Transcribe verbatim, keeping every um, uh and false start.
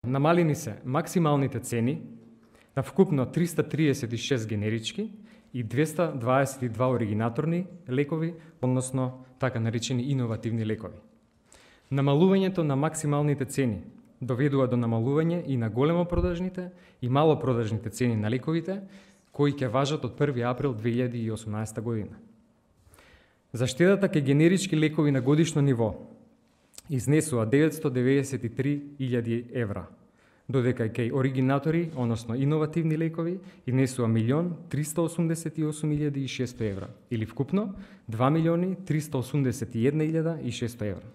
Намалени се максималните цени на вкупно триста триесет и шест генерички и двеста дваесет и два оригинаторни лекови, односно така наречени иновативни лекови. Намалувањето на максималните цени доведува до намалување и на големо продажните и мало продажните цени на лековите, кои ќе важат од први април две илјади и осумнаесета година. За штедата кај генерички лекови на годишно ниво изнесува деветстотини деведесет и три илјади евра, додека кај оригинатори, односно иновативни лекови, изнесува милион триста осумдесет и осум илјади и шесто евра, или вкупно два милиони триста осумдесет и една илјада и шесто евра.